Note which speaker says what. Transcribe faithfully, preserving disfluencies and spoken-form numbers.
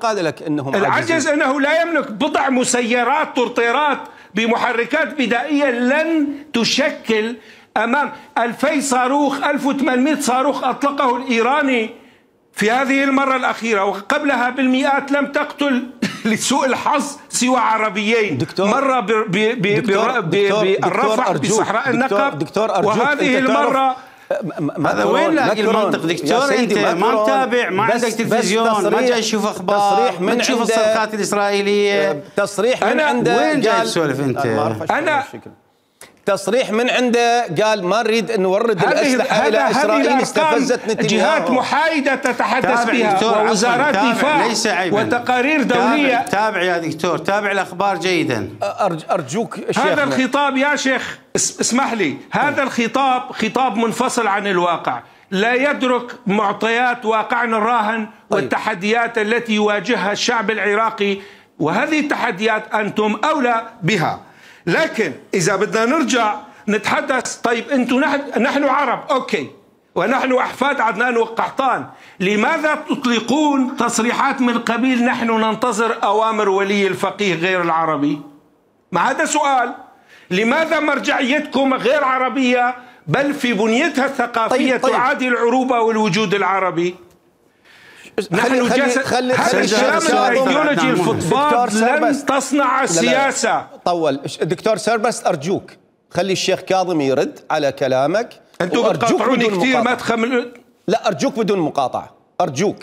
Speaker 1: قال لك انهم
Speaker 2: العجز انه لا يملك بضع مسيرات طرطيرات بمحركات بدائيه لن تشكل امام ألفي صاروخ ألف وثمانمئة صاروخ اطلقه الايراني في هذه المره الاخيره، وقبلها بالمئات لم تقتل لسوء الحظ سوى عربيين.
Speaker 1: دكتور
Speaker 2: مره بالرفح بصحراء النقب، وهذه المره
Speaker 3: هذا وين لاقي المنطق دكتور؟ انت ما متابع، ما عندك تلفزيون، ما جاي تشوف اخبار، ما تشوف الصرخات الاسرائيليه.
Speaker 1: تصريح من عنده،
Speaker 3: وين جاي تسولف انت؟
Speaker 2: انا
Speaker 1: تصريح من عنده قال ما نريد ان نورد الاسلحه الى اسرائيل، استفزت نتنياهو.
Speaker 2: جهات محايده تتحدث بها ووزارات دفاع وتقارير دوليه.
Speaker 3: تابع يا دكتور، تابع الاخبار جيدا.
Speaker 1: ارجوك
Speaker 2: هذا الخطاب يا شيخ اسمح لي، هذا الخطاب خطاب منفصل عن الواقع، لا يدرك معطيات واقعنا الراهن والتحديات التي يواجهها الشعب العراقي، وهذه التحديات انتم اولى بها. لكن إذا بدنا نرجع نتحدث، طيب أنتم نحن, نحن عرب أوكي، ونحن أحفاد عدنان وقحطان، لماذا تطلقون تصريحات من قبيل نحن ننتظر أوامر ولي الفقيه غير العربي؟ ما هذا سؤال. لماذا مرجعيتكم غير عربية بل في بنيتها الثقافية طيب طيب. تعادي العروبة والوجود العربي؟ نحن جالس هذا الكلام الايديولوجي الفضفاض لن تصنع السياسه.
Speaker 1: طول دكتور سربس، ارجوك خلي الشيخ كاظم يرد على كلامك.
Speaker 2: انتم بتقاطعوني كثير، ما تخمل.
Speaker 1: لا ارجوك بدون مقاطعه، ارجوك.